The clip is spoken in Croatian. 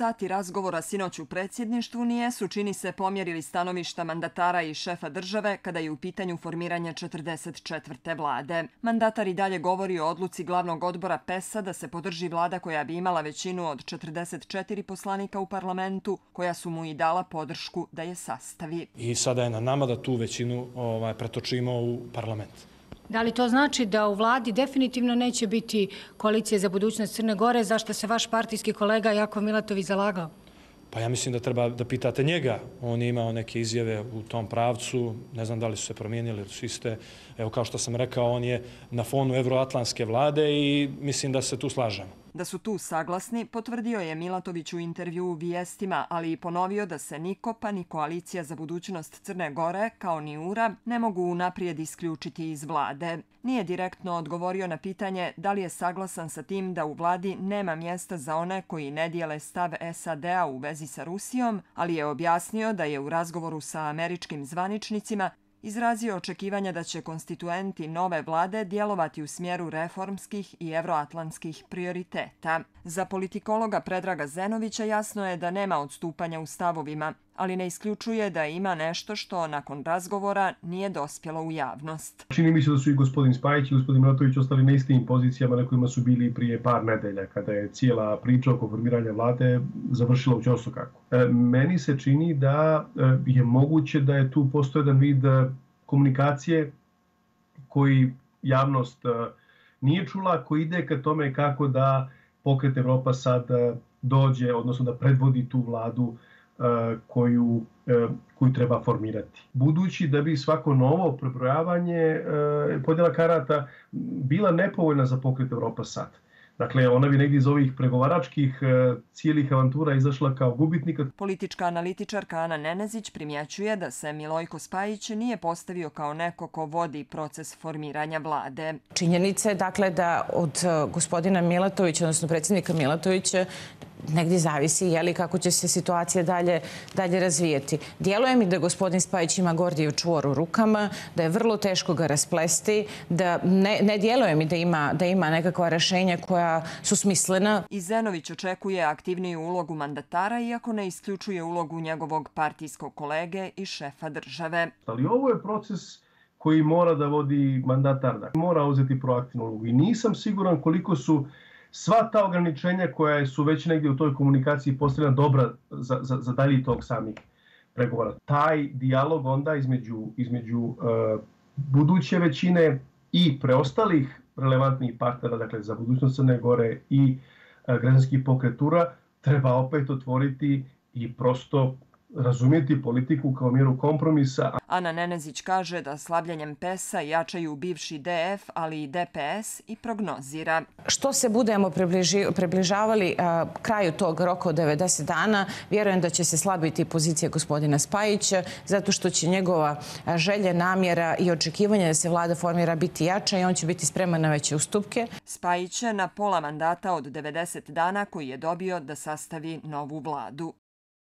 sati razgovora sinoć u predsjedništvu nijesu, čini se, pomjerili stanovišta mandatara i šefa države kada je u pitanju formiranje 44. vlade. Mandatar i dalje govori o odluci glavnog odbora PES-a da se podrži vlada koja bi imala većinu od 44 poslanika u parlamentu, koja su mu i dala podršku da je sastavi. I sada je na nama da tu većinu pretočimo u parlament. Da li to znači da u vladi definitivno neće biti koalicije za budućnost Crne Gore, za što se vaš partijski kolega Jakov Milatović zalagao? Pa ja mislim da treba da pitate njega. On je imao neke izjave u tom pravcu. Ne znam da li su se promijenili, su iste. Evo, kao što sam rekao, on je na fonu evroatlantske vlade i mislim da se tu slažemo. Da su tu saglasni, potvrdio je Milatović u intervju u Vijestima, ali i ponovio da se niko, pa ni koalicija za budućnost Crne Gore, kao ni URA, ne mogu unaprijed isključiti iz vlade. Nije direktno odgovorio na pitanje da li je saglasan sa tim da u vladi nema mjesta za one koji ne dijele stav SAD-a u vezi sa Rusijom, ali je objasnio da je u razgovoru sa američkim zvaničnicima izrazio očekivanja da će konstituenti nove vlade djelovati u smjeru reformskih i evroatlantskih prioriteta. Za politikologa Predraga Zenovića jasno je da nema odstupanja u stavovima, ali ne isključuje da ima nešto što nakon razgovora nije dospjelo u javnost. Čini mi se da su i gospodin Spajić i gospodin Milatović ostali na istim pozicijama na kojima su bili prije par nedelja, kada je cijela priča oko formiranja vlade završila u ćorsokako. Meni se čini da je moguće da je tu postoji jedan vid komunikacije koji javnost nije čula, koji ide ka tome kako da Pokret Evropa sad dođe, odnosno da predvodi tu vladu koju treba formirati. Budući da bi svako novo prebrojavanje podjela karata bila nepovoljna za Pokret Evropa sad. Dakle, ona bi negdje iz ovih pregovaračkih cijelih avantura izašla kao gubitnika. Politička analitičarka Ana Nenezić primjećuje da se Milojko Spajić nije postavio kao neko ko vodi proces formiranja vlade. Činjenica je dakle da od gospodina Milatovića, odnosno predsjednika Milatovića, negdje zavisi kako će se situacija dalje razvijeti. Djeluje mi da gospodin Spajić ima Gordijev čvor u rukama, da je vrlo teško ga rasplesti, da ne djeluje mi da ima nekakva rješenja koja su smislena. I Zenović očekuje aktivniju ulogu mandatara, iako ne isključuje ulogu njegovog partijskog kolege i šefa države. Ali ovo je proces koji mora da vodi mandatar, mora uzeti proaktivnu ulogu. I nisam siguran koliko su sva ta ograničenja koja su već negdje u toj komunikaciji postavljena dobra za dalji tog samih pregovora. Taj dijalog onda između buduće većine i preostalih relevantnih partnera, dakle za budućnost Crne Gore i građanskih pokretura, treba opet otvoriti i prosto razumjeti politiku kao mjeru kompromisa. Ana Nenezić kaže da slabljenjem PES-a jačaju bivši DF, ali i DPS i prognozira. Što se budemo približavali kraju tog roka od 90 dana, vjerujem da će se slabiti pozicija gospodina Spajića, zato što će njegova želja, namjera i očekivanje da se vlada formira biti jača i on će biti spreman na veće ustupke. Spajić je na pola mandata od 90 dana koji je dobio da sastavi novu vladu.